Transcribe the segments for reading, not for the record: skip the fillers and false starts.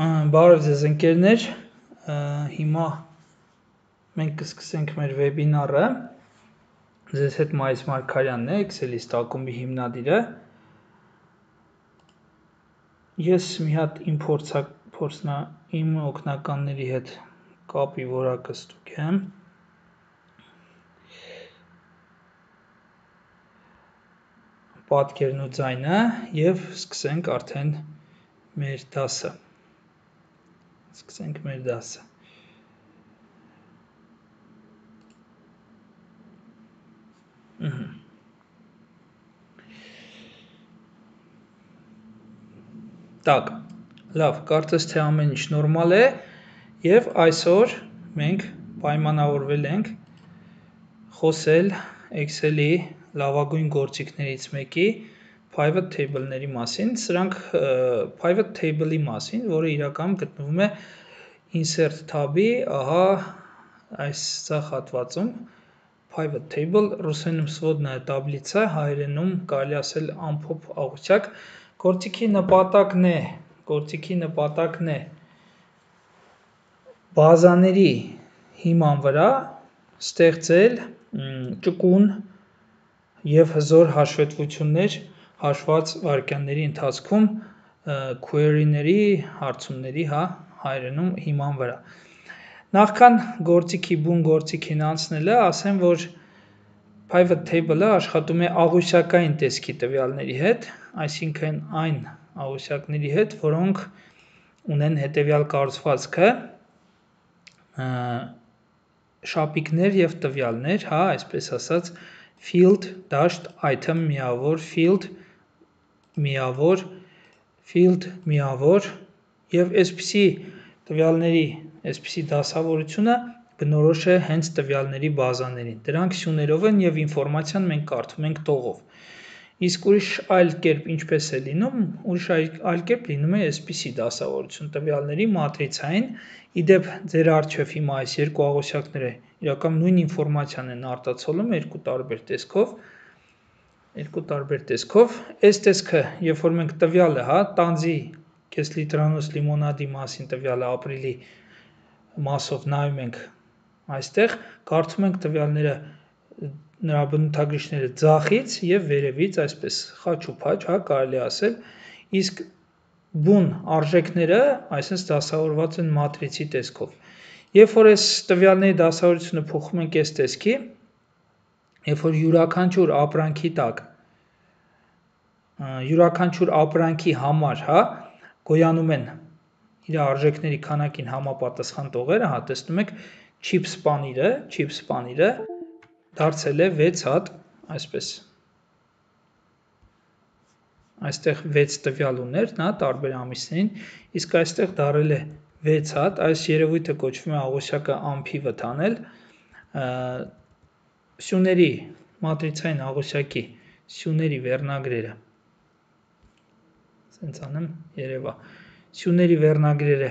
Բարև ձեզ ընկերներ, հիմա մենք կսկսենք մեր վեբինարը, ձեզ հետ Մայիս Մարգարյանն է, Excel-իստ ակումբի հիմնադիրը, ես մի հատ իմ օգնականների հետ կապի որակը ստուգեմ, պատկերն ու ձայնը և սկսենք արդեն մեր դասը։ Так, լավ, կարծես թե ամեն ինչ նորմալ է և այսօր մենք պայմանավորվել ենք խոսել Excel-ի լավագույն գործիքներից մեկի Pivot Table-ների մասին, սրանք Pivot Table-ի մասին, որը իրականում գտնվում է Insert tab-ի, ահա այս ցախ հատվածում, Pivot Table, ռուսերենում Swodная таблица, հայերենում կարելի ասել ամփոփ աղյուսակ, գործիքի նպատակն է բազաների հիման վրա ստեղծել ճկուն և հզոր հաշվետվություններ հաշված վայրկյանների ընթացքում query-ների, հարցումների հայերենում հիման վրա։ Նախքան բուն գործիքին անցնելը, ասեմ, որ Pivot Table-ը աշխատում է աղյուսակային տեսքի տվյալների հետ, այսինքն այն աղյուսակների հետ, որոնք ունեն հետևյալ կառուցվածքը, շապիկներ և տվյալներ, այսպես ասած, field, դաշտ, item, միավոր, field, միավոր, field, միավոր և այսպիսի տվյալների այսպիսի դասավորությունը բնորոշ է հենց տվյալների բազաներին, դրանք սյուներով են և ինֆորմացիան մենք կարդում ենք տողով, իսկ ուրիշ այլ կերպ ինչպես է լինում, այլ կերպ լինում է այսպիսի դասավորություն տվյալների մատրիցային, իդեպ ձեր առջև հիմա այս երկու աղյուսակները իրականում նույն ինֆորմացիան են արտացոլում երկու տարբեր տեսքով, այս տեսքը, երբ որ մենք տվյալը, տանձի կեսլիտրանոց լիմոնադի մասին տվյալը ապրիլի մասով նայում ենք այստեղ, կարդում ենք տվյալները, նրա բնութագրիչները ձախից և վերևից, այսպես խաչ ու փաչ, կարելի ասել, իսկ բուն արժեքները, այսպես դասավորված են մատրիցի տեսքով։ Երբ որ այս տվյալների դասավորությունը փոխում ենք այս տեսքի, երբ որ յուրաքանչյուր ապրանքի համար գոյանում են իր արժեքների քանակին համապատասխան տողերը, տեսնում եք chips պանիրը դարձել է 6 հատ, այսպես, այստեղ 6 տվյալ ուներ, տարբեր ամիսներին, իսկ այստեղ դարել է 6 հատ, այս երևույթը կոչվում է աղյուսակը unpivot անել, սյուների, մատրիցային աղյուսակի սյուների վերնագրերը, սյուների վերնագրերը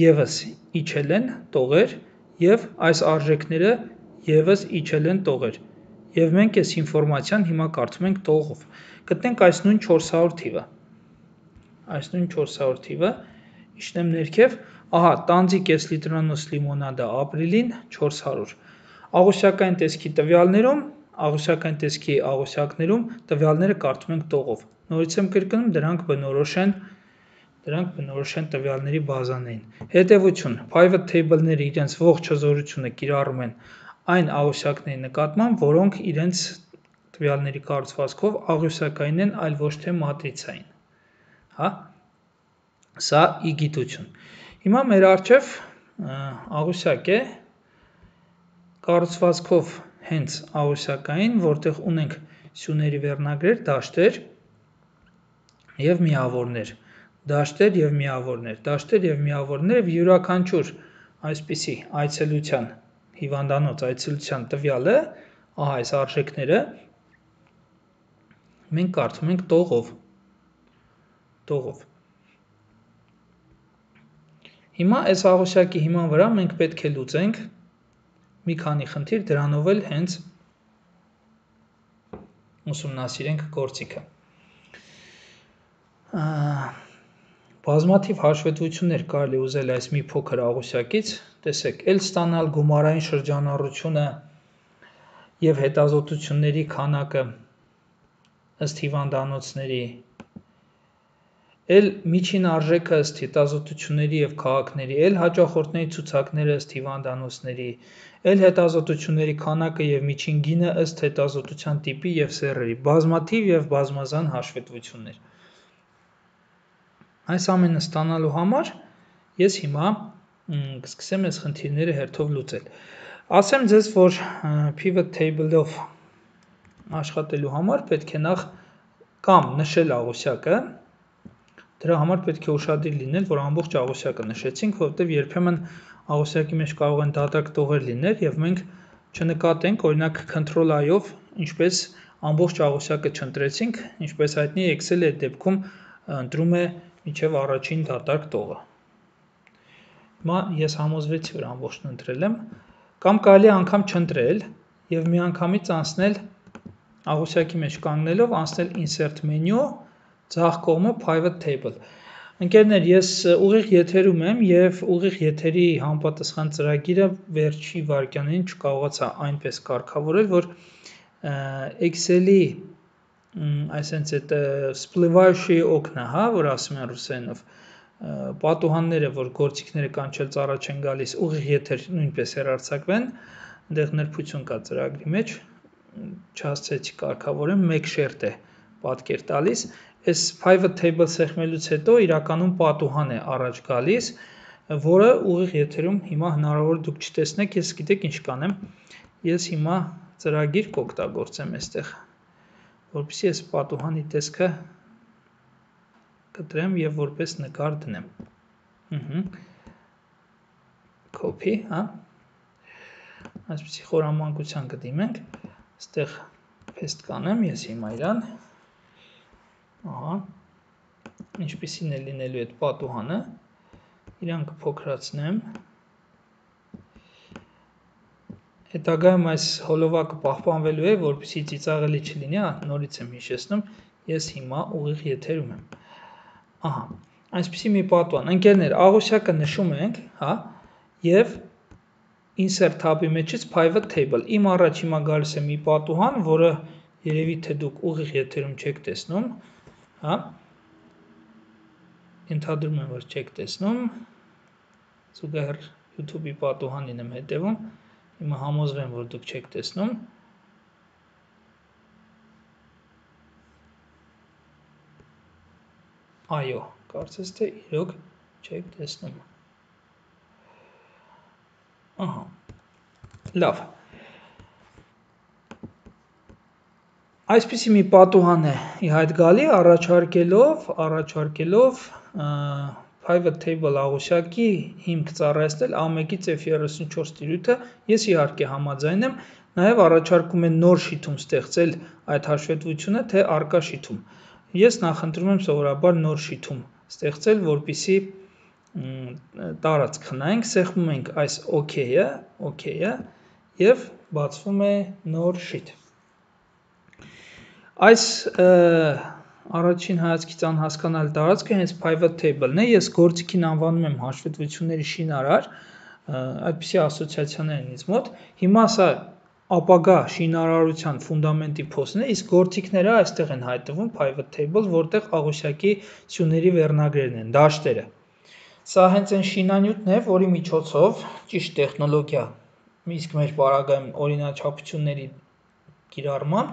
ևս իջել են տողեր և այս արժեքները ևս իջել են տողեր և մենք այս ինֆորմացիան հիմա կարդում ենք տողով, գտնենք այս նույն 400 թիվը, իջնեմ ներքև, տանձի կեսլիտրանոց լիմոնադը ապրիլին 400, աղյուսակային տեսքի տվյալներում, աղյուսակային տեսքի աղյուսակներում տվյալները կարդում ենք տողով, նորից եմ կրկնում, դրանք բնորոշ են տվյալների բազաներին։ Հետևություն, Pivot Table-ները իրենց ողջ հզորությունը կիրառում են այն աղյուսակների նկատմամբ, որոնք իրենց տվյալների կառուցվածքով աղյուսակային են, այլ ոչ թե մատրիցային, սա ի գիտություն։ Հիմա մեր առջև աղյուսակ է, կառուցվածքով հենց աղյուսակային, որտեղ ունենք սյուների վերնագրեր, դաշտեր և միավորներ, յուրաքանչյուր այսպիսի հիվանդանոց այցելության տվյալը, այս արժեքները մենք կարդում ենք տողով։ Հիմա այս աղյուսակի հիման վրա մենք պետք է լուծենք մի քանի խնդիր, դրանով էլ հենց ուսումնասիրենք գործիքը։ Բազմաթիվ հաշվետվություններ կարելի ուզել այս մի փոքր աղյուսակից, տեսեք, էլ ստանալ գումարային շրջանառությունը և հետազոտությունների քանակը ըստ հիվանդանոցների, էլ միջին արժեքը ըստ հետազոտությունների և քաղաքների, էլ հաճախորդների ցուցակները ըստ հիվանդանոցների, էլ հետազոտությունների քանակը և միջին գինը ըստ հետազոտության տիպի և սեռերի, բազմաթիվ և բազմազան հաշվետվություններ։ Այս ամենը ստանալու համար ես հիմա կսկսեմ այս խնդիրները հերթով լուծել։ Ասեմ ձեզ, որ pivot table-ով աշխատելու համար պետք է նախ կամ նշել աղյուսակը, դրա համար պետք է ուշադիր լինել, որ ամբողջ աղյուսակը նշեցինք, որովհետև երբեմն աղյուսակի մեջ կարող են դատարկ տողեր լինել և մենք չնկատենք, օրինակ Ctrl+I-ով ինչպես ամբողջ աղյուսակը չընտրեցինք, ինչպես հայտնի է Excel-ը այդ դեպքում ընտրում է մինչև առաջին դատարկ տողը։ Հիմա ես համոզվեցի, որ ամբողջն ընտրել եմ, կամ կարելի է անգամ չընտրել և միանգամից անցնել աղյուսակի մեջ կանգնելով անցնել Insert Menu, ձախ կողմը Pivot Table։ Ընկերներ, ես ուղիղ եթերում եմ և ուղիղ եթերի համապատասխան ծրագիրը վերջի վայրկյաններին չկարողացա այնպես կարգավորել, որ Excel-ի այսենց այդ всплывающие окна, որ ասում են ռուսերենով, պատուհանները, որ գործիքները կանչելուց առաջ են գալիս, ուղիղ եթեր նույնպես հեռարձակվեն, այնտեղ նրբություն կա ծրագրի մեջ, չհասցրեցի կարգավորեմ, մեկ շերտ է պատկեր տալիս, այս pivot table սեղմելուց հետո իրականում պատուհան է առաջ գալիս, որը ուղիղ եթերում հիմա հնարավոր դուք չտեսնեք, ես գիտեք ինչ կանեմ, ես հիմա ծրագիր կօգտագործեմ այստեղ, որպեսզի այս պատուհանի տեսքը կտրեմ և որպես նկար դնեմ։ Copy, այսպիսի խորամանկության կդիմենք, այստեղ paste կանեմ, ես հիմա իրան, ինչպիսին է լինելու այդ պատուհանը, իրան կփոքրացնեմ, հետագայում այս հոլովակը պահպանվելու է, որպեսզի ծիծաղելի չլինի, նորից եմ հիշեցնում, ես հիմա ուղիղ եթերում եմ։ Այսպիսի մի պատուհան, ընկերներ, աղյուսակը նշում ենք, և Insert tab-ի մեջից Pivot Table, իմ առաջ հիմա գալիս է մի պատուհան, որը երևի թե դուք ուղիղ եթերում չեք տեսնում, ենթադրում եմ, որ չեք տեսնում, զուգահեռ YouTube-ի պատուհանին եմ հետևում, հիմա համոզվեմ, որ դուք չեք տեսնում, այո, կարծես թե իրոք չեք տեսնում, լավ, այսպիսի մի պատուհան է ի հայտ գալի, առաջարկելով Pivot Table աղյուսակի հիմք ծառայեցնել A1-ից F34 տիրույթը, ես իհարկե համաձայն եմ, նաև առաջարկում է նոր շիթում ստեղծել այդ հաշվետվությունը, թե առկա շիթում։ Ես նախընտրում եմ սովորաբար նոր շիթում ստեղծել, որպեսզի տարածք խնայենք, սեղմում ենք այս OK-ը և բացվում է նոր շիթ։ Այս առաջին հայացքից անհասկանալի տարածքը հենց Pivot Table-ն է, ես գործիքին անվանում եմ հաշվետվությունների շինարար, այդպիսի ասոցիացիաներ են ինձ մոտ, հիմա սա ապագա շինարարության ֆունդամենտի փոստն է, իսկ գործիքները այստեղ են հայտնվում Pivot Table, որտեղ աղյուսակի սյուների վերնագրերն են, դաշտերը։ Սա հենց այն շինանյութն է, որի միջոցով ճիշտ տեխնոլոգիա, իսկ մեր պարագայում օրինաչափությունների կիրառմամբ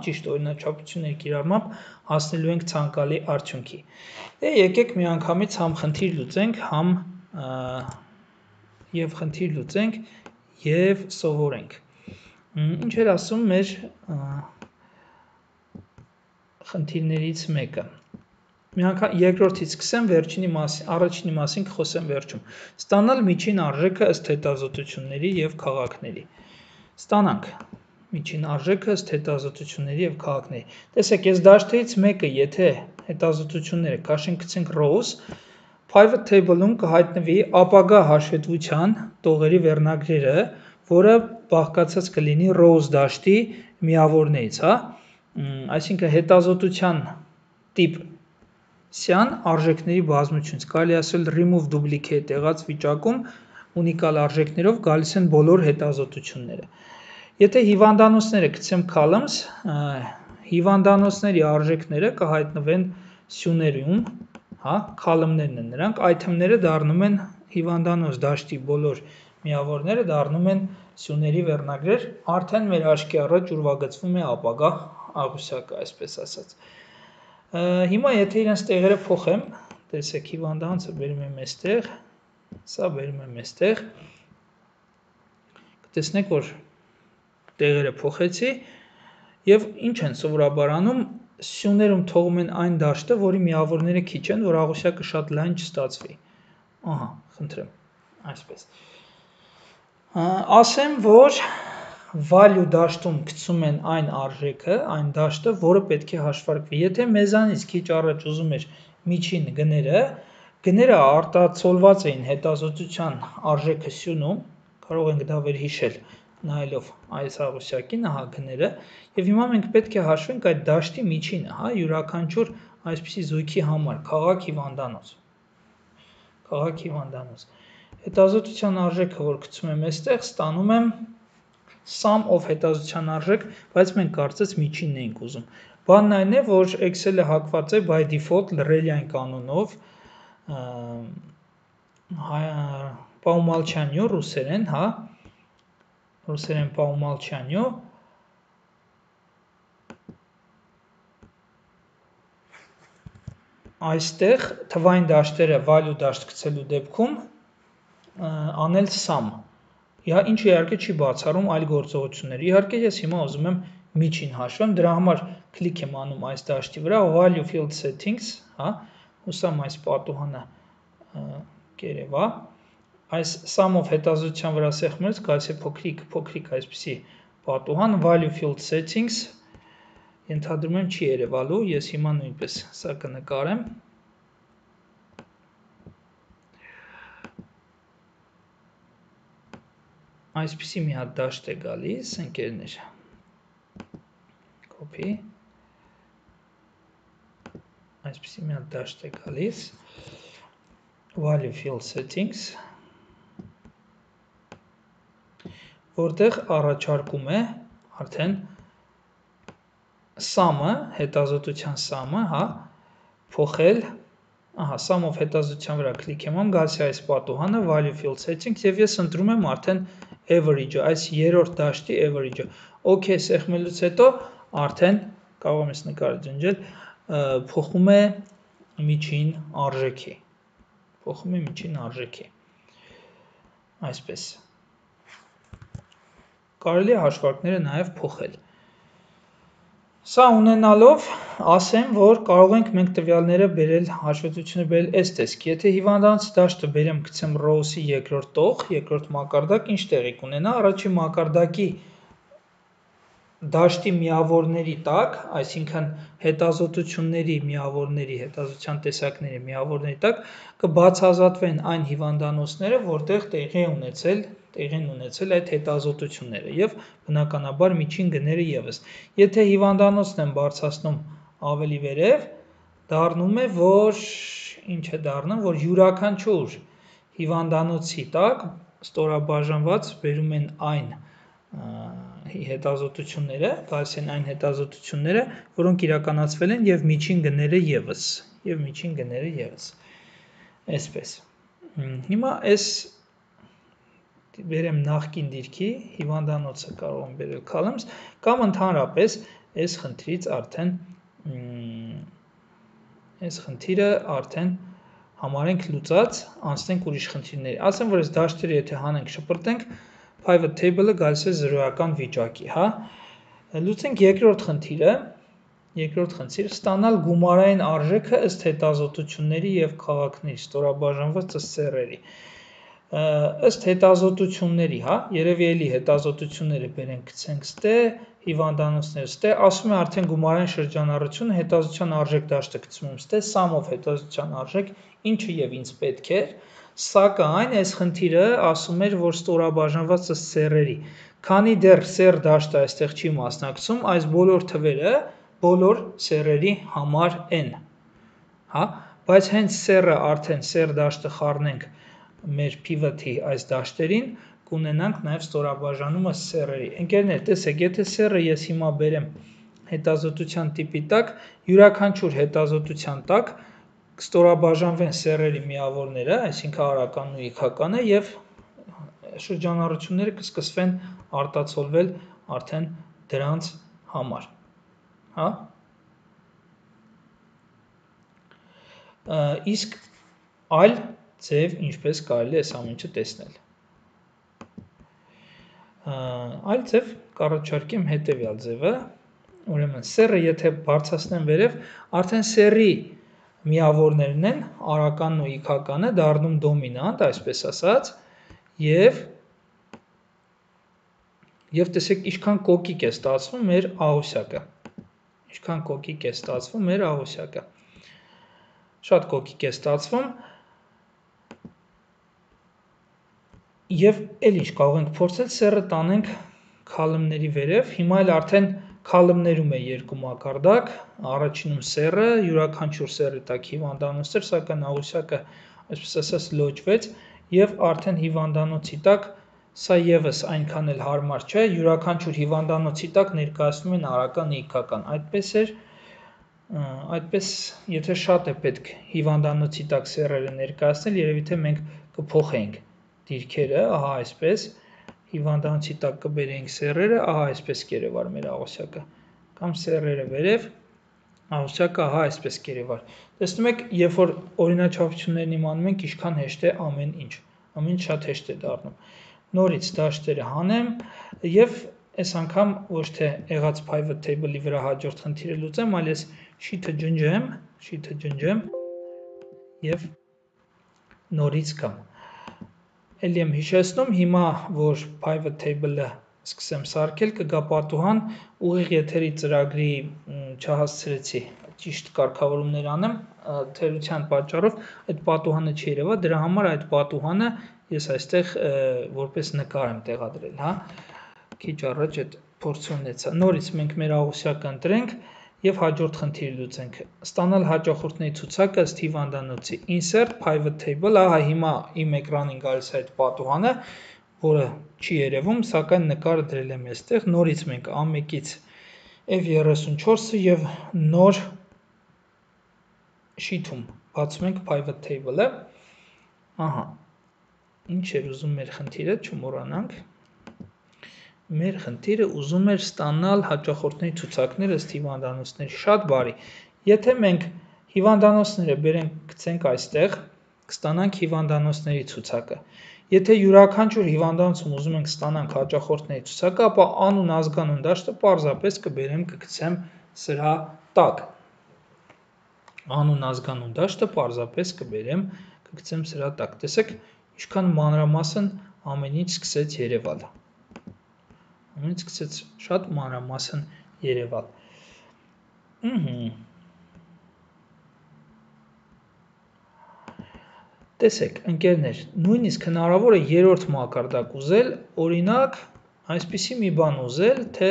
հասնելու ենք ցանկալի արդյունքի։ Եկեք միանգամից համ խնդիր լուծենք և սովորենք։ Ինչ էր ասում մեր խնդիրներից մեկը։ Երկրորդից սկսեմ, առաջինի մասին կխոսեմ վերջում։ Ստանալ միջին արժեքը ըստ հետազոտությունների և քաղաքների։ Ստանանք միջին արժեքը ըստ հետազոտությունների և քաղաքների։ Տեսեք, այս դաշտերից մեկը, եթե հետազոտությունները քաշենք գցենք rows, Pivot Table-ում կհայտնվի ապագա հաշվետվության տողերի վերնագրերը, որը բաղկացած կլինի rows դաշտի միավորներից, այսինքն հետազոտության տիպ Սյան արժեքների բազմությունից կարելի ասել remove duplicate եղած վիճակում ունիկալ արժեքներով գալիս են բոլոր հետազոտությունները։ Եթե հիվանդանոցները գցեմ columns, հիվանդանոցների արժեքները կհայտնվեն սյուներում, հա, column-ներն են նրանք, item-ները դառնում են հիվանդանոց դաշտի բոլոր միավորները դառնում են սյուների վերնագրեր, արդեն մեր աչքի առաջ ուրվագծվում է ապագա աղյուսակը, այսպես ասած։ Հիմա եթե իրենց տեղերը փոխեմ, տեսեք հիվանդանոցը բերում եմ այստեղ, սա բերում եմ այստեղ, կտեսնեք, որ տեղերը փոխեցի եւ ինչ են սովորաբար անում, սյուներում թողում են այն դաշտը, որի միավորները քիչ են, որ աղյուսակը շատ լայն չստացվի։ Ահա, խնդրեմ, այսպես։ Ասեմ, որ value դաշտում գցում են այն արժեքը, այն դաշտը, որը պետք է հաշվարկվի։ Եթե մեզանից քիչ առաջ ուզում էր միջին գները արտացոլված էին հետազոտության արժեքը սյունում, կարող ենք դա վերհիշել նայելով այս աղյուսակին, ահա գները, եւ հիմա մենք պետք է հաշվենք այդ դաշտի միջինը, հա, յուրաքանչյուր այսպիսի զույգի համար, քաղաք հիվանդանոց։ Քաղաք հիվանդանոց։ Հետազոտության արժեքը, որ գցում եմ այստեղ, ստանում եմ sum of հետազոտության արժեք, բայց մենք կարծես միջինն ենք ուզում։ Բանն այն է, որ Excel-ը հակված է by default լռելյան կանոնով, по умолчанию ռուսերեն, հա, ռուսերեն по умолчанию, այստեղ թվային դաշտերը value դաշտ գցելու դեպքում անել sum։ Ինչը իհարկե չի բացառում այլ գործողություններ։ Իհարկե ես հիմա ուզում եմ միջին հաշվեմ, դրա համար կլիկ եմ անում այս դաշտի վրա, value field settings, հա, հուսամ այս պատուհանը կերևա։ Այս sum-ով հետազոտության վրա սեղմելուց գալիս է փոքրիկ այսպիսի պատուհան, value field settings, ենթադրում եմ չի երևալու, ես հիմա նույնպես սա կնկարեմ։ Այսպիսի մի հատ դաշտ է գալիս, ընկերներ, copy, այսպիսի մի հատ դաշտ է գալիս, value field settings, որտեղ առաջարկում է արդեն sum-ը, հետազոտության sum-ը, հա, փոխել, ահա, sum-ով հետազոտության վրա կլիկ եմ անում, գալիս է այս պատուհանը, value field settings, եւ ես ընտրում եմ արդեն average-ը, այս երրորդ դաշտի average-ը։ OK սեղմելուց հետո արդեն կարող եմ ես նկարը ջնջել, փոխում է միջին արժեքի։ Փոխում է միջին արժեքի։ Այսպես։ Կարելի է հաշվարկները նաև փոխել։ Սա ունենալով, ասեմ, որ կարող ենք մենք տվյալները բերել, հաշվետվությունը բերել այս տեսքի։ Եթե հիվանդանոցի դաշտը բերեմ գցեմ row-ի երկրորդ տող, երկրորդ մակարդակ, ինչ տեղի կունենա, առաջին մակարդակի դաշտի միավորների տակ, այսինքն հետազոտությունների միավորների, հետազոտության տեսակների միավորների տակ կբացազատվեն այն հիվանդանոցները, որտեղ տեղին ունեցել այդ հետազոտությունները եւ բնականաբար միջին գները եւս։ Եթե հիվանդանոցն են բարձրացնում ավելի վերև, դառնում է, որ ինչ է դառնում, որ յուրաքանչյուր հիվանդանոցի տակ ստորաբաժանված բերում են այն հետազոտությունները, գալիս են այն հետազոտությունները, որոնք իրականացվել են եւ միջին գները եւս, այսպես։ Հիմա այս բերեմ նախկին դիրքի, հիվանդանոցը կարող եմ բերել columns, կամ ընդհանրապես այս խնդիրը արդեն համարենք լուծած, անցնենք ուրիշ խնդիրների։ Ասեմ, որ այս դաշտերը եթե հանենք, շպրտենք, pivot table-ը գալիս է զրոյական վիճակի, հա։ Լուծենք երկրորդ խնդիրը, ստանալ գումարային արժեքը ըստ հետազոտությունների եւ քաղաքների, ստորաբաժանված ըստ սեռերի։ Ըստ հետազոտությունների, հա, երևի էլի հետազոտությունները բերենք գցենք ստե, հիվանդանոցները ստե, ասում է արդեն գումարային շրջանառությունը հետազոտության արժեք դաշտը գցում եմ ստե, sum-ով հետազոտության արժեք, ինչը եւ ինձ պետք էր, սակայն այս խնդիրը ասում էր, որ ստորաբաժանված ըստ սեռերի։ Քանի դեռ սեռ դաշտը այստեղ չի մասնակցում, այս բոլոր թվերը բոլոր սեռերի համար են։ հա, բայց հենց սեռը արդեն սեռ դաշտը խառնենք մեր pivot-ի այս դաշտերին, կունենանք նաև ստորաբաժանումը սեռերի։ Ընկերներ, տեսեք, եթե սեռը ես հիմա բերեմ հետազոտության տիպի տակ, յուրաքանչյուր հետազոտության տակ կստորաբաժանվեն սեռերի միավորները, այսինքն արականն ու իքականը, եւ շրջանառությունները կսկսվեն արտացոլվել արդեն դրանց համար, հա։ Իսկ այլ ձև ինչպես կարելի է այս ամեն ինչը տեսնել։ Այլ ձև կառաջարկեմ հետևյալ ձևը, ուրեմն սեռը եթե բարձրացնեմ վերև, արդեն սեռի միավորներն են արականն ու իքականը դառնում դոմինանտ, այսպես ասած, եւ տեսեք ինչքան կոկիկ է ստացվում մեր աղյուսակը։ Ինչքան կոկիկ է ստացվում մեր աղյուսակը։ Շատ կոկիկ է ստացվում։ Եվ էլ ինչ կարող ենք փորձել սեռը տանենք քալմների վերև, հիմա էլ արդեն քալմներում է երկու մակարդակ, առաջինում սեռը, յուրաքանչյուր սեռի տակ հիվանդանոց էր, սակայն աղյուսակը, այսպես ասած, լոճվեց եւ արդեն հիվանդանոցի տակ սա եւս այնքան էլ հարմար չէ, յուրաքանչյուր հիվանդանոցի տակ ներկայացնում են արական ու իքական, այդպես եթե շատ է պետք հիվանդանոցի տակ սեռերը ներկայացնել, երևի թե մենք կփոխենք դիրքերը, ահա այսպես, հիվանդանոցի տակ կբերենք սեռերը, ահա այսպես կերևար մեր աղյուսակը, կամ սեռերը վերև, աղյուսակը ահա այսպես կերևար։ Տեսնում եք, երբ որ օրինաչափություններն իմանում ենք, ինչքան հեշտ է ամեն ինչ շատ հեշտ է դառնում։ Նորից դաշտերը հանեմ եւ այս անգամ ոչ թե եղած pivot table-ի վրա հաջորդ խնդիրը լուծեմ, այլ ես շիթը ջնջեմ եւ նորից կամ Էլի եմ հիշեցնում, հիմա որ pivot table-ը սկսեմ սարքել, կգա պատուհան, ուղիղ եթերի ծրագրի չհասցրեցի ճիշտ կարգավորումներ անեմ, թերության պատճառով այդ պատուհանը չերևա, դրա համար այդ պատուհանը ես այստեղ որպես նկար եմ տեղադրել, հա։ Քիչ առաջ այդ փորձը ունեցա։ Նորից մենք մեր աղյուսակը ընտրենք եւ հաջորդ խնդիրը լուծենք։ Ստանալ հաճախորդների ցուցակը ըստ հիվանդանոցի։ Insert pivot table, ահա հիմա իմ էկրանին գալիս է այդ պատուհանը, որը չի երևում, սակայն նկարը դրել եմ այստեղ։ Նորից մենք A1-ից F34-ը եւ նոր շիթում բացում ենք pivot table-ը։ Ահա։ Ինչ էր ուզում մեր խնդիրը, չմոռանանք։ Մեր խնդիրը ուզում էր ստանալ հաճախորդների ցուցակները ըստ հիվանդանոցների, շատ բարի։ Եթե մենք հիվանդանոցները բերենք գցենք այստեղ, կստանանք հիվանդանոցների ցուցակը։ Եթե յուրաքանչյուր հիվանդանոցում ուզում ենք ստանանք հաճախորդների ցուցակը, ապա անուն ազգանուն դաշտը պարզապես կբերեմ կգցեմ սրա տակ։ Անուն ազգանուն դաշտը պարզապես կբերեմ կգցեմ սրա տակ։ Տեսեք, ինչքան մանրամասն ամեն ինչ սկսեց երևալ։ Ամեն ինչ սկսեց շատ մանրամասն երևալ։ Տեսեք, ընկերներ, նույնիսկ հնարավոր է երրորդ մակարդակ ուզել, օրինակ, այսպիսի մի բան ուզել, թե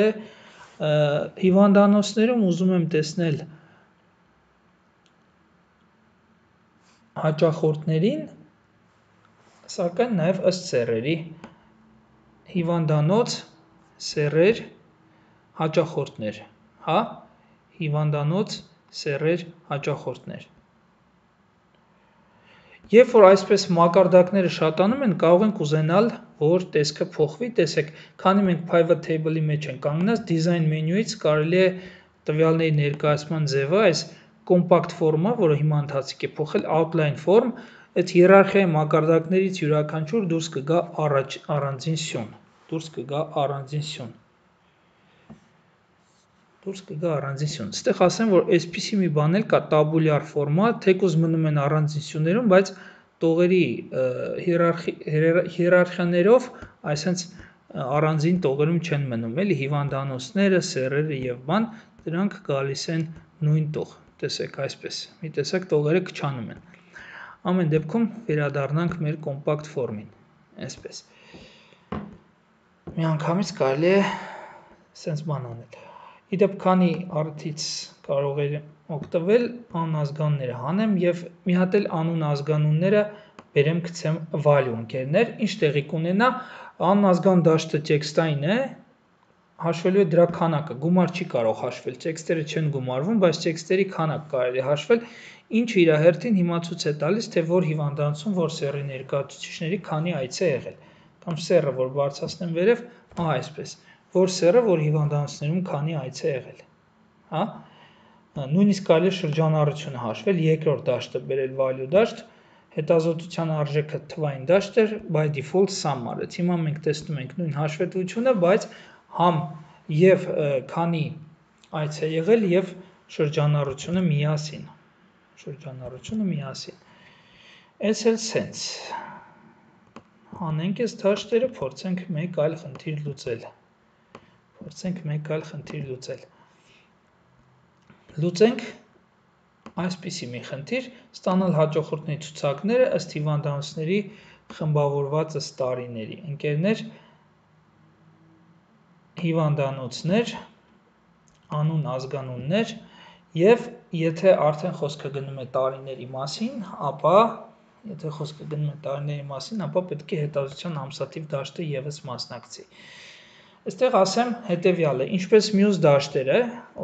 հիվանդանոցներում ուզում եմ տեսնել հաճախորդներին, սակայն նաև ըստ սեռերի, հիվանդանոց, սեռեր, հաճախորդներ, հա, հիվանդանոց, սեռեր, հաճախորդներ։ Երբ որ այսպես մակարդակները շատանում են, կարող ենք ուզենալ, որ տեսքը փոխվի, տեսեք, քանի մենք pivot table-ի մեջ ենք կանգնած, design մենյուից կարելի է տվյալների ներկայացման ձևը, այս compact form-ը, որը հիմա ընթացիկ է փոխել outline form, այդ հիերարխիայի մակարդակներից յուրաքանչյուր դուրս կգա առանձին սյուն, Ստեղ ասեմ, որ այսպիսի մի բան էլ կա tabular format, թեկուզ մնում են առանձին սյուներում, բայց տողերի հիերարխիաներով այսենց առանձին տողերում չեն մնում, էլի հիվանդանոցները, սեռերը եւ բան, դրանք գալիս են նույն տող, տեսեք այսպես, մի տեսակ տողերը քչանում են։ Ամեն դեպքում վերադառնանք մեր compact form-ին, այսպես։ Միանգամից կարելի է սենց բան անել։ Իդեպ քանի առիթից կարող էր օգտվել անազգանունները հանեմ եւ մի հատ էլ անուն ազգանունները բերեմ գցեմ value ընկերներ, ինչ տեղի կունենա անազգան դաշտը տեքստային է, հաշվելու է դրա քանակը, գումար չի կարող հաշվել, տեքստերը չեն գումարվում, բայց տեքստերի քանակ կարելի հաշվել, ինչը իր հերթին հիմա ցույց է տալիս, թե որ հիվանդանոցում, որ սեռի ներկայացուցիչների քանի այց է եղել, կամ սեռը, որ բարձրացնեմ վերև, այսպես, որ սեռը, որ հիվանդանոցներում քանի այց է եղել, հա, նույնիսկ կարելի է շրջանառությունը հաշվել, երկրորդ դաշտը բերել value դաշտ, հետազոտության արժեքը թվային դաշտ էր, by default sum արեց, հիմա մենք տեսնում ենք նույն հաշվետվությունը, բայց համ եւ քանի այց է եղել եւ շրջանառությունը միասին, Այս էլ sense, հանենք այս դաշտերը, փորձենք մեկ այլ խնդիր լուծել, լուծենք այսպիսի մի խնդիր, ստանալ հաճախորդների ցուցակները ըստ հիվանդանոցների խմբավորված ըստ տարիների, ընկերներ, հիվանդանոցներ, անուն ազգանուններ եւ եթե արդեն խոսքը գնում է տարիների մասին, ապա պետք է հետազոտության ամսաթիվ դաշտը եւս մասնակցի։ Այստեղ ասեմ հետեւյալը, ինչպես մյուս դաշտերը,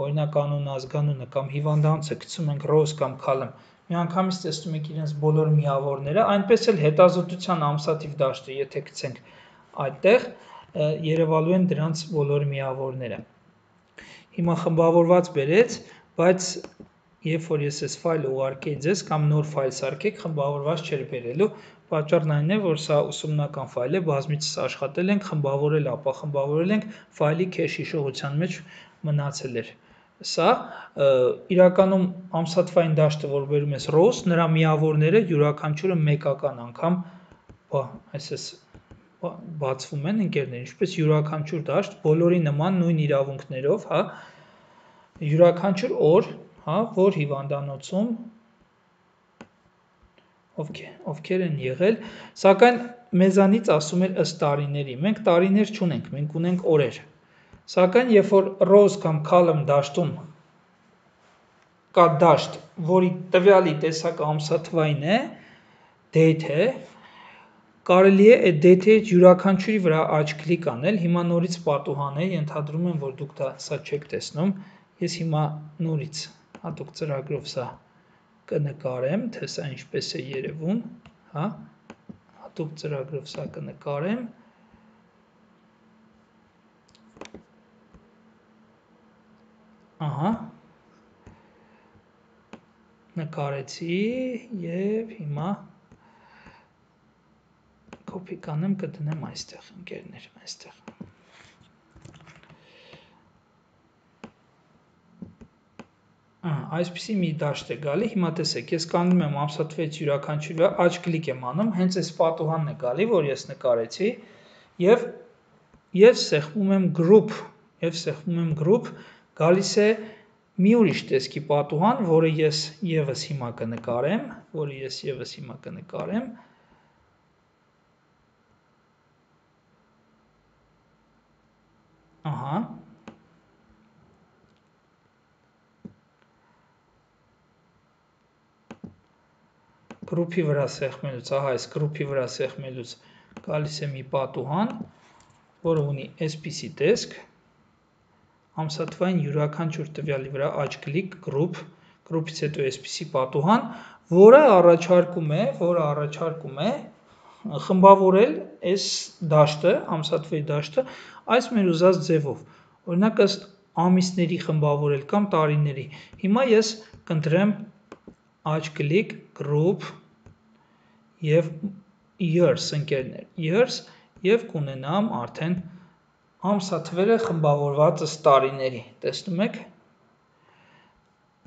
օրինակ անուն ազգանունը կամ հիվանդանոցը գցում ենք rows կամ column, միանգամից տեսնում եք իրենց բոլոր միավորները, այնպես էլ հետազոտության ամսաթիվ դաշտը, եթե գցենք այդտեղ, երևալու են դրանց բոլոր միավորները։ Հիմա խմբավորված բերեց, բայց երբ որ ես այս ֆայլը ուղարկեի ձեզ կամ նոր ֆայլ սարքեք, խմբավորված չէր բերելու, պատճառն այն է, որ սա ուսումնական ֆայլ է, բազմիցս աշխատել ենք, խմբավորել, ապա խմբավորել ենք, ֆայլի քեշ հիշողության մեջ մնացել էր։ Սա իրականում ամսաթվային դաշտը, որ բերում ես rows, նրա միավորները յուրաքանչյուրը մեկական անգամ բացվում են ընկերներ, ինչպես յուրաքանչյուր դաշտ, բոլորի նման նույն իրավունքներով, հա, յուրաքանչյուր օր, հա, որ հիվանդանոցում ովքեր են եղել, սակայն մեզանից ասում էր ըստ տարիների, մենք տարիներ չունենք, մենք ունենք օրեր, սակայն երբ որ rows կամ column դաշտում կա դաշտ, որի տվյալի տեսակը ամսաթվային է, date է, կարելի է այդ date-ի յուրաքանչյուրի վրա աջ կլիկ անել, հիմա նորից պատուհան է, ենթադրում եմ, որ դուք սա չեք տեսնում, ես հիմա նորից հատուկ ծրագրով սա կնկարեմ, թե սա ինչպես է երևում, հա, հատուկ ծրագրով սա կնկարեմ, ահա, նկարեցի և հիմա կոպի կանեմ կդնեմ այստեղ, ընկերներ, այստեղ։ Այսպիսի մի դաշտ է գալի, հիմա տեսեք, ես կանգնում եմ ամսաթվից յուրաքանչյուրի աջ կլիկ եմ անում, հենց այս պատուհանն է գալի, որ ես նկարեցի, և սեղմում եմ group, գալիս է մի ուրիշ տեսքի պատուհան, որը ես ևս հիմա կնկարեմ, ահա, գրուպի վրա սեղմելուց, ահա այս գրուպի վրա սեղմելուց գալիս է մի պատուհան, որը ունի այսպիսի տեսք, ամսաթվային յուրաքանչյուր տվյալի վրա աջ կլիկ, գրուպից հետո այսպիսի պատուհան, որը առաջարկում է խմբավորել այս դաշտը, ամսաթվայի դաշտը, այս մեր ուզած ձևով, օրինակ ըստ ամիսների խմբավորել կամ տարիների, հիմա ես կընտրեմ աջ կլիկ, group և years, ընկերներ, years և կունենամ արդեն ամսաթվերը խմբավորված ըստ տարիների, տեսնում եք,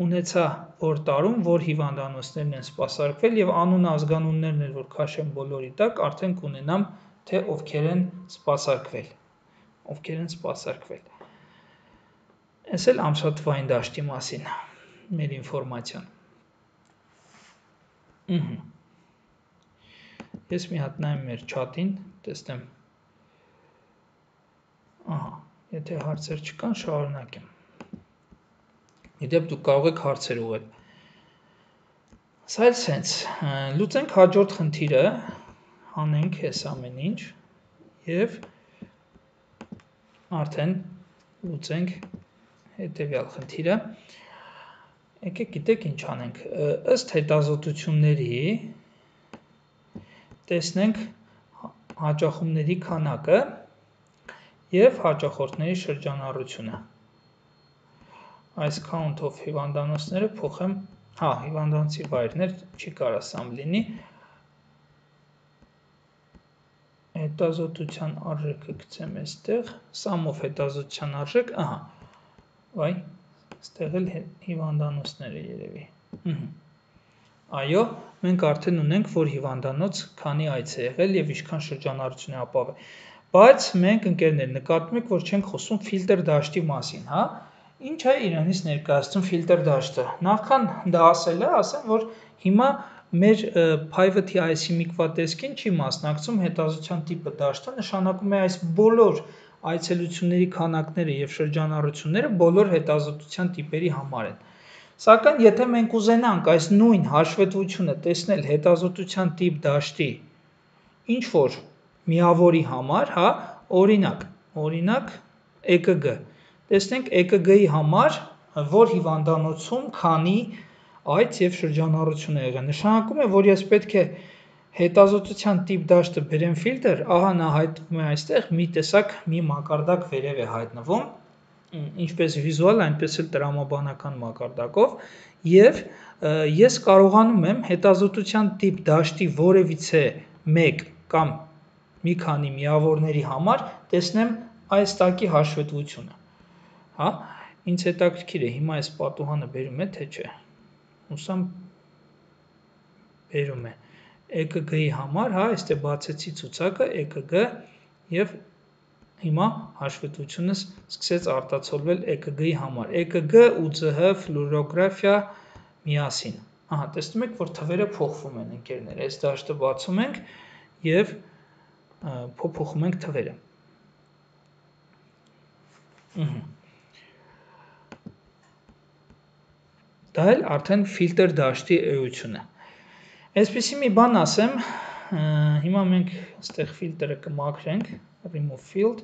ունեցա որ տարում, որ հիվանդանոցներն են սպասարկվել և անուն ազգանուններն էլ, որ քաշեմ բոլորի տակ, արդեն կունենամ, թե ովքեր են սպասարկվել, Այս էլ ամսաթվային դաշտի մասին մեր ինվորմացիան, Ես մի հատ նայեմ մեր չաթին, տեսնեմ, ահա, եթե հարցեր չկան, շարունակեմ։ Իդեպ դուք կարող եք հարցեր ուղղել։ Սա էլ սենց, լուծենք հաջորդ խնդիրը, հանենք այս ամեն ինչ և արդեն լուծենք հետևյալ խնդիրը։ Եկեք գիտեք ինչ անենք, ըստ հետազոտությունների տեսնենք հաճախումների քանակը և հաճախորդների շրջանառությունը։ Այս count of հիվանդանոցները փոխեմ, հիվանդանոցի վայրներ չի կարա սամ լինի, հետազոտության արժեքը գցեմ այստեղ, sum of հետազոտության արժեք, վայ, այստեղ էլ հիվանդանոցները երևի։ Այո, մենք արդեն ունենք, որ հիվանդանոց քանի այց է եղել և ինչքան շրջանառություն է ապահովել։ Բայց մենք ընկերներ նկատում եք, որ չենք խոսում ֆիլտր դաշտի մասին, հա։ Ինչ է իրենից ներկայացնում ֆիլտր դաշտը։ Նախքան դա ասելը, ասեմ, որ հիմա մեր private IC միկվատեսկին չի մասնակցում հետազոտության տիպը դաշտը, նշանակում է այս բոլոր այցելությունների քանակները և շրջանառությունները բոլոր հետազոտության տիպերի համար են։ Սակայն եթե մենք ուզենանք այս նույն հաշվետվությունը տեսնել հետազոտության տիպ դաշտի ինչ-որ միավորի համար, հա, օրինակ EKG, տեսնենք EKG-ի համար, որ հիվանդանոցում քանի այց և շրջանառություն է եղել, նշանակում է, որ ես պետք է հետազոտության տիպ դաշտը բերեմ ֆիլտր, ահա նա հայտնվում է այստեղ, մի տեսակ մի մակարդակ վերև է հայտնվում, ինչպես վիզուալ, այնպես էլ տրամաբանական մակարդակով, և ես կարողանում եմ հետազոտության տիպ դաշտի որևիցե մեկ կամ մի քանի միավորների համար տեսնեմ այս տակի հաշվետվությունը, հա, ինձ հետաքրքիր է, հիմա այս պատուհանը բերում է, թե չէ, հուսամ բերում է, EKG-ի համար, հա, այստեղ բացեցի ցուցակը, EKG և հիմա հաշվետվությունս սկսեց արտացոլվել EKG-ի համար, EKG ու ՁՀ ֆլուորոգրաֆիա միասին, ահա, տեսնում եք, որ թվերը փոխվում են, ընկերներ, այս դաշտը բացում ենք և փոխում ենք թվերը։ Դա էլ արդեն ֆիլտր դաշտի էությունը։ Այսպիսի մի բան ասեմ, հիմա մենք այստեղ ֆիլտրը կմաքրենք, remove field,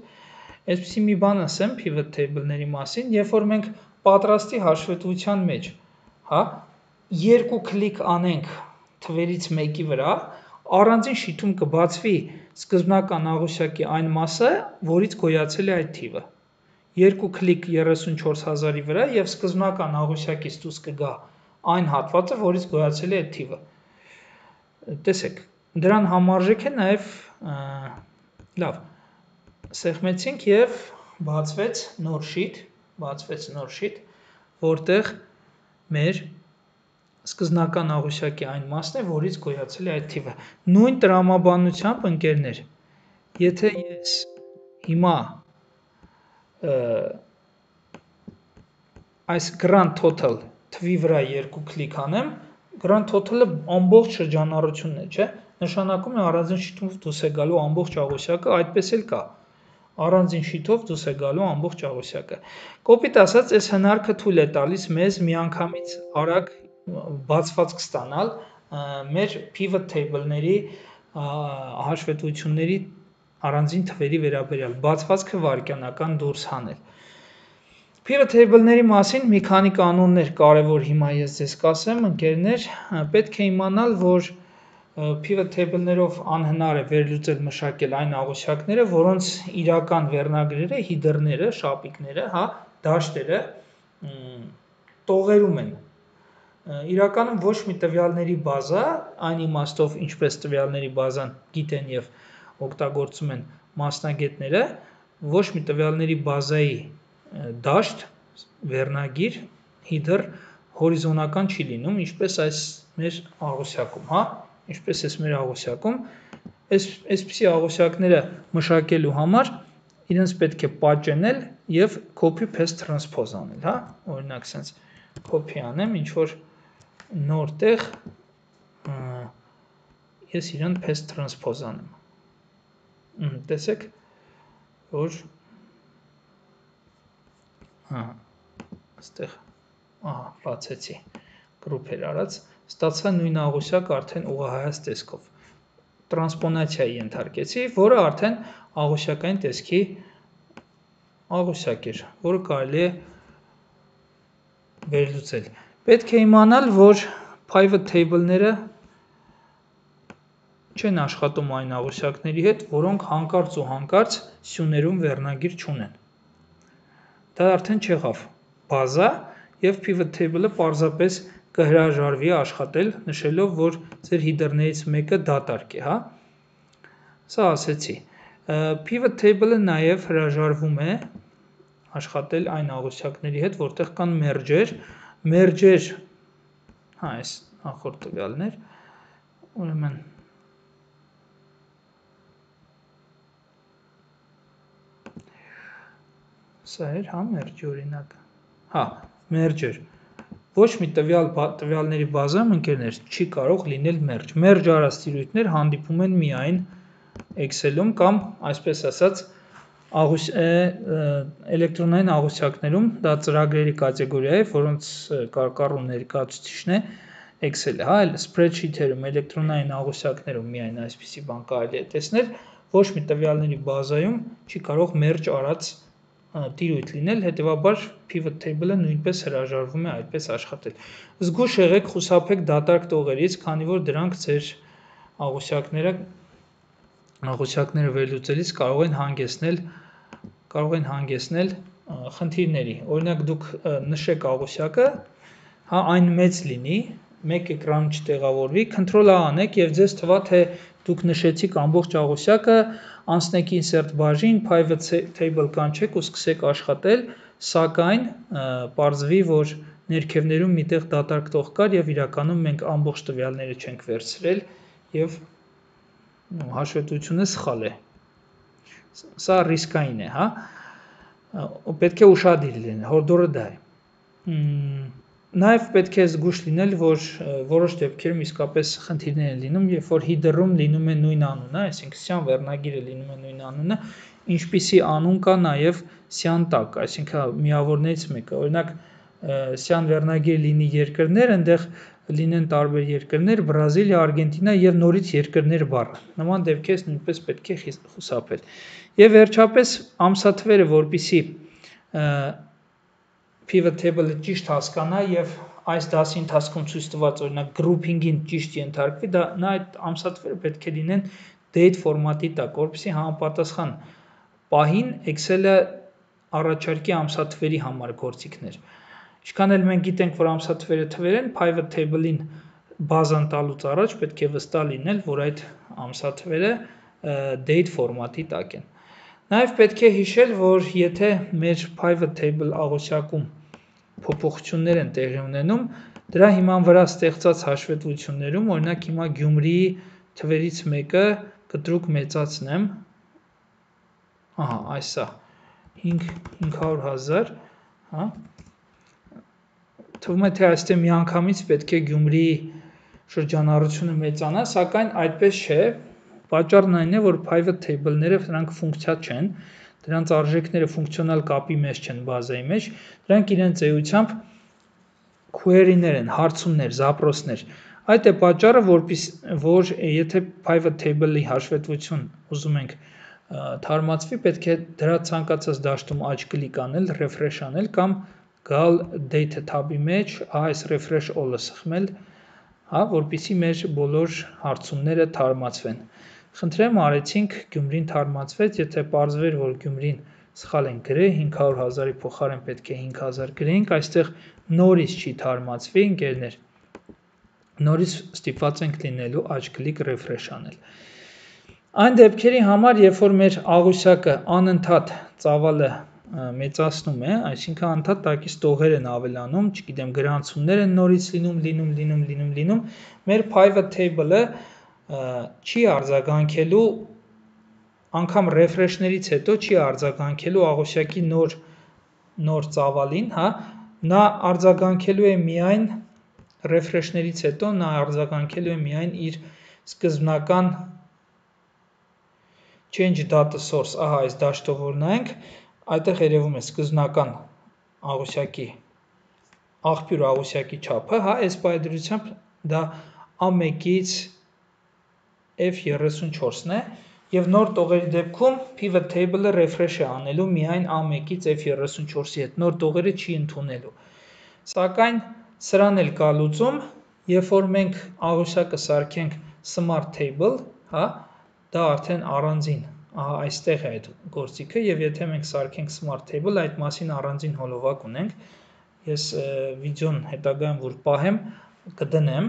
այսպիսի մի բան ասեմ pivot table-ների մասին, երբ որ մենք պատրաստի հաշվետվության մեջ, հա, երկու կլիկ անենք թվերից մեկի վրա, առանձին շիթում կբացվի սկզբնական աղյուսակի այն մասը, որից գոյացել է այդ թիվը։ Երկու կլիկ 34,000-ի վրա և սկզբնական աղյուսակից դուրս կգա այն հատվածը, որից գոյացել է այդ թիվը։ Տեսեք, դրան համարժեք է նաև, լավ, սեղմեցինք և բացվեց նոր շիթ, որտեղ մեր սկզբնական աղյուսակի այն մասն է, որից գոյացել է այդ թիվը։ Նույն տրամաբանությամբ, ընկերներ, եթե ես հիմա այս grand total թվի վրա երկու կլիկ անեմ, grand total-ը ամբողջ շրջանառությունն է, չէ, նշանակում է առանձին շիթով դուրս է գալու ամբողջ աղյուսակը, այդպես էլ կա, առանձին շիթով դուրս է գալու ամբողջ աղյուսակը։ Կոպիտ ասած, այս հնարքը թույլ է տալիս մեզ միանգամից արագ բացվածք ստանալ մեր pivot table-ների հաշվետվությունների առանձին թվերի վերաբերյալ, բացվածքը վայրկյանական դուրս հանել։ Pivot table-ների մասին մի քանի կանոններ կարևոր հիմա ես ձեզ կասեմ, ընկերներ, պետք է իմանալ, որ pivot table-ներով անհնար է վերլուծել մշակել այն աղյուսակները, որոնց իրական վերնագրերը, հիդերները, շապիկները, հա, դաշտերը տողերում են։ Իրականում ոչ մի տվյալների բազա, այն իմաստով, ինչպես տվյալների բազան գիտեն և օգտագործում են մասնագետները, ոչ մի տվյալների բազայի դաշտ, վերնագիր, հիդր հորիզոնական չի լինում, ինչպես այս մեր աղյուսակում, հա, ինչպես այս մեր աղյուսակում, այսպիսի աղյուսակները մշակելու համար իրենց պետք է պատճենել և copy paste transpose անել, հա, օրինակ սենց copy անեմ, ինչ-որ նոր տեղ ես իրան paste transpose անեմ, տեսեք, որ այստեղ ահա, բացեցի, group էր արած, ստացա նույն աղյուսակը արդեն ուղղահայաց տեսքով։ Տրանսպոնացիայի ենթարկեցի, որը արդեն աղյուսակային տեսքի աղյուսակ էր, որը կարելի է վերլուծել։ Պետք է իմանալ, որ pivot table-ները չեն աշխատում այն աղյուսակների հետ, որոնք հանկարծ ու հանկարծ սյուներում վերնագիր չունեն։ Դա արդեն չեղավ բազա և pivot table-ը պարզապես կհրաժարվի աշխատել, նշելով, որ ձեր հիդերներից մեկը դատարկ է, հա։ Սա ասեցի։ Pivot table-ը նաև հրաժարվում է աշխատել այն աղյուսակների հետ, որտեղ կան merge-եր, հա, այս նախորդ տվյալներ, ուրեմն սա էր, հա, merge օրինակ, հա, merge-եր, ոչ մի տվյալների բազայում ընկերներ չի կարող լինել merge արած տիրույթներ հանդիպում են միայն Excel-ում կամ, այսպես ասած, էլեկտրոնային աղյուսակներում, դա ծրագրերի կատեգորիա է, որոնց կարկառու ներկայացուցիչն է Excel-ը, հա, spreadsheet-երում, էլեկտրոնային աղյուսակներում միայն այսպիսի բան կարելի է տեսնել, ոչ մի տվյալների բազայում չի կարող merge արած տիրույթ լինել, հետևաբար pivot table-ը նույնպես հրաժարվում է այդպես աշխատել։ Զգույշ եղեք, խուսափեք դատարկ տողերից, քանի որ դրանք ձեր աղյուսակները վերլուծելիս կարող են հանգեցնել խնդիրների։ Օրինակ դուք նշեք աղյուսակը, հա, այն մեծ լինի, մեկ էկրանում չտեղավորվի, Ctrl-A անեք և ձեզ թվա, թե դուք նշեցիք ամբողջ աղյուսակը, անցնեք insert բաժին, pivot table կանչեք ու սկսեք աշխատել, սակայն պարզվի, որ ներքևներում միտեղ դատարկ տող կար և իրականում մենք ամբողջ տվյալները չենք վերցրել և հաշվետվությունը սխալ է։ Սա ռիսկային է, հա, պետք է ուշադիր լինել, հորդորը դա է։ Նաև պետք է զգույշ լինել, որ որոշ դեպքերում իսկապես խնդիրներ են լինում, երբ որ header-ում լինում է նույն անունը, այսինքն սյան վերնագիրը լինում է նույն անունը, ինչպիսի անուն կա նաև սյան տակ, այսինքն միավորներից մեկը, օրինակ սյան վերնագիր լինի երկրներ, այնտեղ լինեն տարբեր երկրներ, Բրազիլիա, Արգենտինա և նորից երկրներ բառը, նման դեպքերից նույնպես պետք է խուսափել։ Եվ վերջապես ամսաթվերը, որպեսզի pivot table-ը ճիշտ հասկանա և այս դասի ընթացքում ցույց տված օրինակ grouping-ին ճիշտ ենթարկվի, նա այդ ամսաթվերը պետք է լինեն date ֆորմատի տակ, որպեսզի համապատասխան պահին Excel-ը առաջարկի ամսաթվերի համար գործիքներ։ Ինչքան էլ մենք գիտենք, որ ամսաթվերը թվեր են, pivot table-ին բազան տալուց առաջ պետք է վստահ լինել, որ այդ ամսաթվերը date ֆորմատի տակ են։ Նաև պետք է հիշել, որ եթե մեր pivot table աղյուսակում փոփոխություններ են տեղի ունենում, դրա հիման վրա ստեղծած հաշվետվություններում, օրինակ հիմա Գյումրիի թվերից մեկը կտրուկ մեծացնեմ, ահա, այսա, 500,000, հա, թվում է, թե այստեղ միանգամից պետք է Գյումրիի շրջանառությունը մեծանա, սակայն այդպես չէ, պատճառն այն է, որ pivot table-ները դրանք ֆունկցիա չեն, դրանց արժեքները ֆունկցիոնալ կապի մեջ չեն բազայի մեջ, դրանք իրենց էությամբ query-ներ են, հարցումներ, զապրոսներ։ Այդ է պատճառը, որ եթե pivot table-ի հաշվետվություն ուզում ենք թարմացվի, պետք է դրա ցանկացած դաշտում աջ կլիկ անել, refresh անել կամ գալ data tab-ի մեջ, այս refresh all-ը սխմել, հա, որպեսզի մեր բոլոր հարցումները թարմացվեն։ Խնդրեմ, արեցինք, Գյումրին թարմացվեց, եթե պարզվեր, որ Գյումրին սխալ ենք գրել, 500,000-ի փոխարեն պետք է 5,000 գրեինք, այստեղ նորից չի թարմացվի, ընկերներ, նորից ստիպված ենք լինելու աջ կլիկ refresh անել։ Այն դեպքերի համար, երբ որ մեր աղյուսակը անընդհատ ծավալը մեծացնում է, այսինքն անընդհատ տակից տողեր են ավելանում, չգիտեմ, գրանցումներ են նորից լինում, մեր pivot table-ը չի արձագանքելու, անգամ refresh-ներից հետո չի արձագանքելու աղյուսակի նոր ծավալին, հա, նա արձագանքելու է միայն refresh-ներից հետո, նա արձագանքելու է միայն իր սկզբնական change data source, ահա այս դաշտով որ նայենք, այդտեղ երևում է սկզբնական աղյուսակի աղբյուր աղյուսակի չափը, հա, այս պայծրությամբ դա A1-ից F34-ն է, եւ նոր տողերի դեպքում pivot table-ը refresh է անելու միայն A1-ից F34-ի հետ, նոր տողերը չի ընդունելու։ Սակայն սրան էլ կա լուծում, երբ որ մենք աղյուսակը սարքենք smart table, հա, դա արդեն առանձին, ահա այստեղ է այդ գործիքը, եւ եթե մենք սարքենք smart table, այդ մասին առանձին հոլովակ ունենք։ Ես վիդեոն հետագայում որ պահեմ, կդնեմ,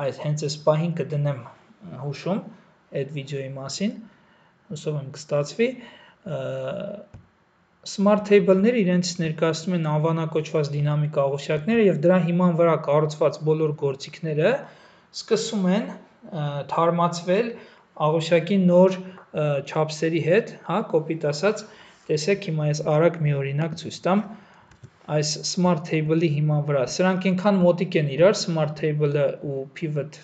այս հենց այս պահին կդնեմ հուշում այդ վիդեոյի մասին, հուսով եմ կստացվի։ Smart table-ները իրենց ներկայացնում են անվանակոչված դինամիկ աղյուսակները եւ դրա հիման վրա կառուցված բոլոր գործիքները սկսում են թարմացվել աղյուսակի նոր չափսերի հետ, հա, կոպիտ ասած, տեսեք հիմա ես արագ մի օրինակ ցույց տամ այս smart table-ի հիման վրա։ Սրանք այնքան մոտիկ են իրար, smart table-ը ու pivot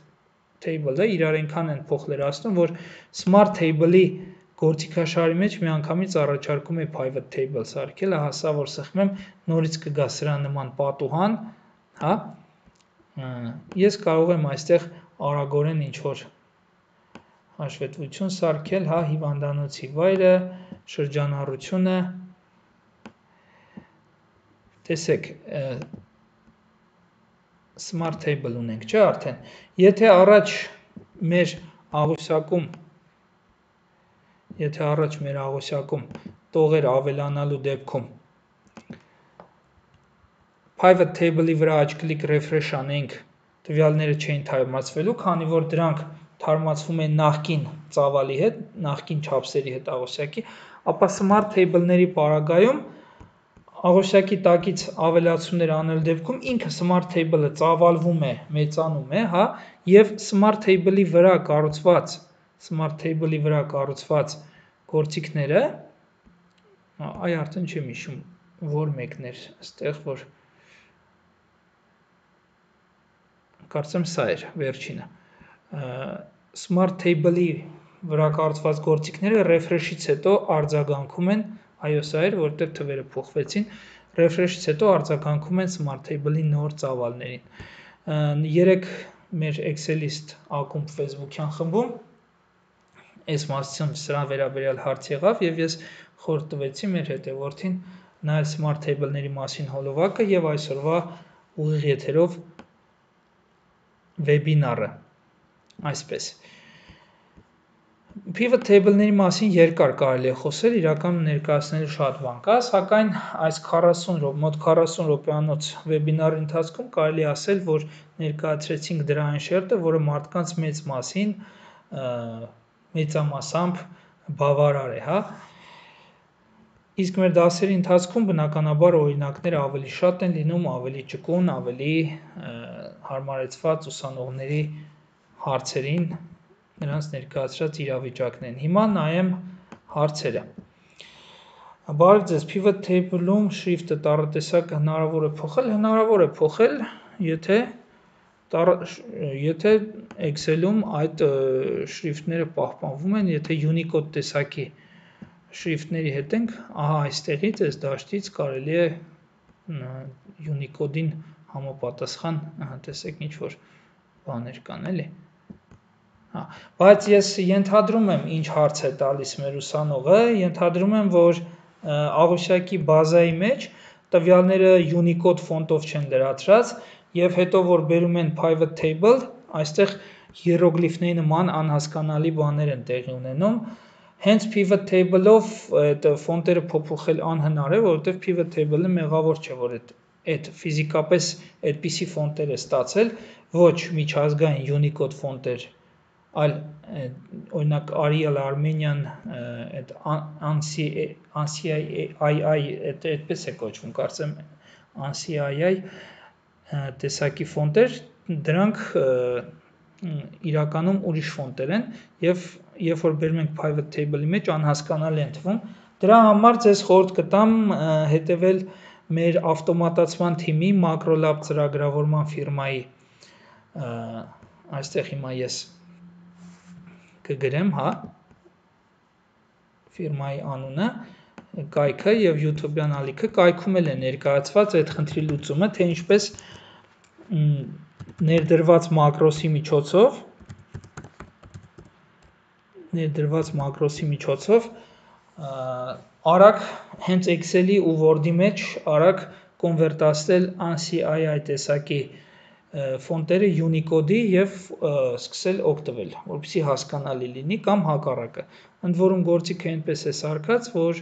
table-ը իրար այնքան են փոխլերացնում, որ smart table-ի գործիքաշարի մեջ միանգամից առաջարկում է pivot table սարքել, ահա սա որ սխմեմ, նորից կգա սրա նման պատուհան, հա։ Ես կարող եմ այստեղ արագորեն ինչ որ հաշվետվություն սարքել, հա, հիվանդանոցի վայրը, շրջանառությունը, տեսեք, smart table ունենք, չէ՞ արդեն։ Եթե առաջ մեր աղյուսակում տողեր ավելանալու դեպքում pivot table-ի վրա աջ-կլիկ refresh անենք, տվյալները չէին թարմացվելու, քանի որ դրանք թարմացվում են նախկին ծավալի հետ, նախկին չափսերի հետ աղյուսակի, ապա smart table-ների պարագայում աղյուսակի տակից ավելացումներ անելու դեպքում ինքը smart table-ը ծավալվում է, մեծանում է, հա, եւ smart table-ի վրա կառուցված գործիքները, այ արդեն չեմ հիշում, որ մեկն էր, այստեղ որ կարծեմ սա էր վերջինը։ Smart table-ի վրա կառուցված գործիքները refresh-ից հետո արձագանքում են, այո, սա էր, որտեղ թվերը փոխվեցին, refresh-ից հետո արձագանքում են smart table-ի նոր ծավալներին։ Երեք մեր Excel-իստ ակումբ Facebook-յան խմբում այս մասում սրա վերաբերյալ հարց եղավ եւ ես խորհուրդ տվեցի մեր հետևորդին նայել smart table-ների մասին հոլովակը եւ այսօրվա ուղիղ եթերով վեբինարը, այսպես։ Pivot table-ների մասին երկար կարելի է խոսել, իրականում ներկայացնելու շատ բան կա, սակայն այս մոտ 40 րոպեանոց վեբինարի ընթացքում կարելի է ասել, որ ներկայացրեցինք դրա այն շերտը, որը մարդկանց մեծ մասին մեծամասամբ բավարար է, հա։ Իսկ մեր դասերի ընթացքում բնականաբար օրինակները ավելի շատ են լինում, ավելի ճկուն, ավելի հարմարեցված ուսանողների հարցերին, նրանց ներկայացրած իրավիճակներին։ Հիմա նայեմ հարցերը։ Բարև ձեզ, pivot table-ում շրիֆտը տառատեսակը հնարավոր է փոխել, հնարավոր է փոխել, եթե Excel-ում այդ շրիֆտները պահպանվում են, եթե Unicode տեսակի շրիֆտների հետ ենք, ահա այստեղից այս դաշտից կարելի է Unicode-ին համապատասխան, տեսեք ինչ որ բաներ կան, էլի։ Բայց ես ենթադրում եմ, ինչ հարց է տալիս մեր ուսանողը, ենթադրում եմ, որ աղյուսակի բազայի մեջ տվյալները Unicode ֆոնտով չեն լրացրած եւ հետո որ բերում են pivot table, այստեղ հիերոգլիֆների նման անհասկանալի բաներ են տեղի ունենում։ Հենց pivot table-ով այդ ֆոնտերը փոփոխել անհնար է, որովհետեւ pivot table-ը մեղավոր չէ, որ այդ ֆիզիկապես այդպիսի ֆոնտեր է ստացել, ոչ միջազգային Unicode ֆոնտեր, այլ օրինակ Arial Armenian այդ ANSI այդպես է կոչվում, կարծեմ ANSI տեսակի ֆոնտեր, դրանք իրականում ուրիշ ֆոնտեր են եւ երբ որ բերում ենք pivot table-ի մեջ անհասկանալի են թվում։ Դրա համար ձեզ խորհուրդ կտամ հետևել մեր ավտոմատացման թիմի Macrolab ծրագրավորման ֆիրմայի այստեղ հիմա ես կգրեմ, հա, ֆիրմայի անունը կայքը եւ YouTube-յան ալիքը կայքում էլ է ներկայացված այդ խնդրի լուծումը, թե ինչպես ներդրված մակրոսի միջոցով արագ հենց Excel-ի ու Word-ի մեջ արագ կոնվերտացնել ANSI տեսակի ֆոնտերը Unicode-ի եւ սկսել օգտվել, որպեսզի հասկանալի լինի կամ հակառակը։ Ընդ որում գործիքը այնպես է սարքած, որ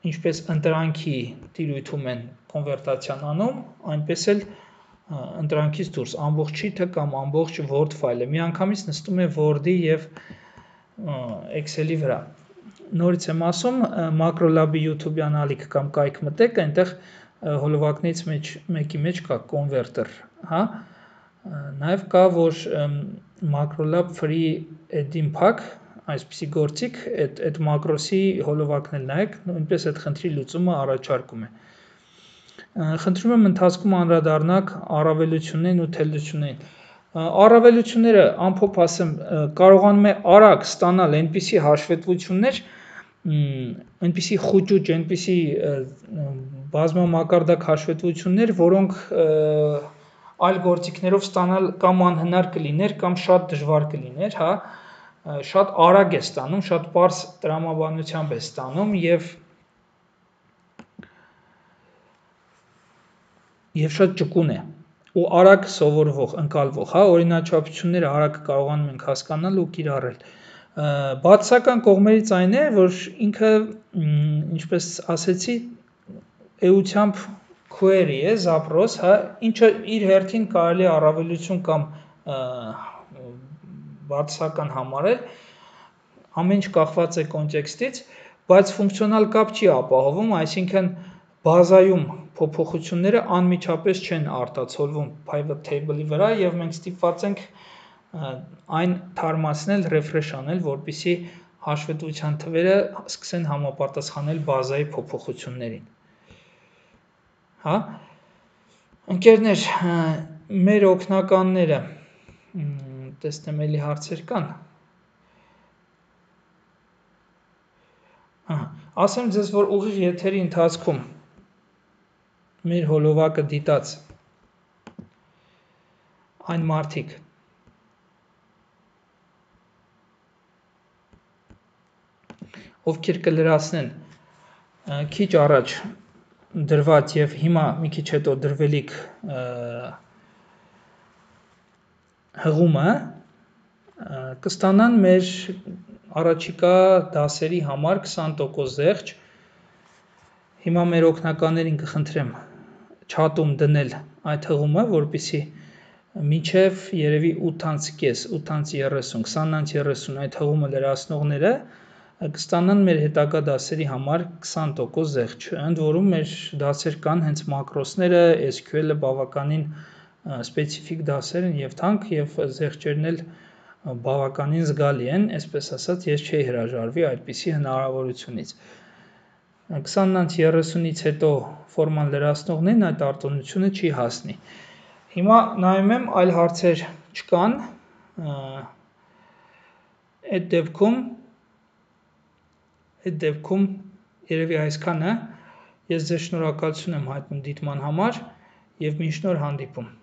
ինչպես ընտրանքի տիրույթում են կոնվերտացիան անում, այնպես էլ ընտրանքից դուրս ամբողջ շիթը կամ ամբողջ Word ֆայլը միանգամից նստում է Word-ի եւ Excel-ի վրա։ Նորից եմ ասում, MacroLab-ի YouTube-յան ալիք կամ կայք մտեք, այնտեղ հոլովակներից մեկի մեջ կա converter, հա։ Նաև կա, որ MacroLab Free Add-in Pack, այսպիսի գործիք, այդ մակրոսի հոլովակն էլ նայեք, նույնպես այդ խնդրի լուծումը առաջարկում է։ Խնդրում եմ ընթացքում անդրադառնաք առավելություններին ու թերություններին։ Առավելությունները, ամփոփ ասեմ, կարողանում է արագ ստանալ այնպիսի հաշվետվություններ, այնպիսի խուճուճ, այնպիսի բազմամակարդակ հաշվետվություններ, որոնք այլ գործիքներով ստանալ կամ անհնար կլիներ, կամ շատ դժվար կլիներ, հա, շատ արագ է ստանում, շատ պարզ տրամաբանությամբ է ստանում եւ շատ ճկուն է ու արագ սովորվող, ընկալվող, հա, օրինաչափությունները արագ կարողանում ենք հասկանալ ու կիրառել։ Բացասական կողմերից այն է, որ ինքը, ինչպես ասեցի, էությամբ query է, zaпрос, հա, ինչը իր հերթին կարելի է առավելություն կամ բացասական համարել, ամեն ինչ կախված է կոնտեքստից, բայց ֆունկցիոնալ կապ չի ապահովում, այսինքն բազայում փոփոխությունները անմիջապես չեն արտացոլվում pivot table-ի վրա եւ մենք ստիպված ենք այն թարմացնել, refresh անել, որպեսզի հաշվետվության թվերը սկսեն համապատասխանել բազայի փոփոխություններին։ Հա։ Ընկերներ, մեր օգնականները, տեսնեմ էլի հարցեր կան։ Ասեմ ձեզ, որ ուղիղ եթերի ընթացքում մեր հոլովակը դիտած այն մարդիկ, ովքեր կլրացնեն քիչ առաջ դրված եւ հիմա մի քիչ հետո դրվելիք հղումը, կստանան մեր առաջիկա դասերի համար 20% զեղչ։ Հիմա մեր օգնականներին կխնդրեմ chat-ում դնել այդ հղումը, որպեսզի մինչև երևի 8:30, 8:30, 20:30 այդ հղումը լրացնողները կստանան մեր հետագա դասերի համար 20% զեղչ։ Ընդ որում մեր դասեր կան հենց մակրոսները, SQL-ը բավականին սպეციფიկ դասեր են եւ թանկ եւ զեղչերն էլ բավականին զգալի են, այսպես ասած, ես չէի հրաժարվի այդպիսի հնարավորությունից։ 20:30-ից հետո ֆորման լրացնողներին այդ արտոնությունը չի հասնի։ Հիմա նայում եմ, այլ հարցեր չկան։ Այդ դեպքում երևի այսքանը։ Ես ձեզ շնորհակալություն եմ հայտնում դիտման համար եւ մինչ նոր հանդիպում։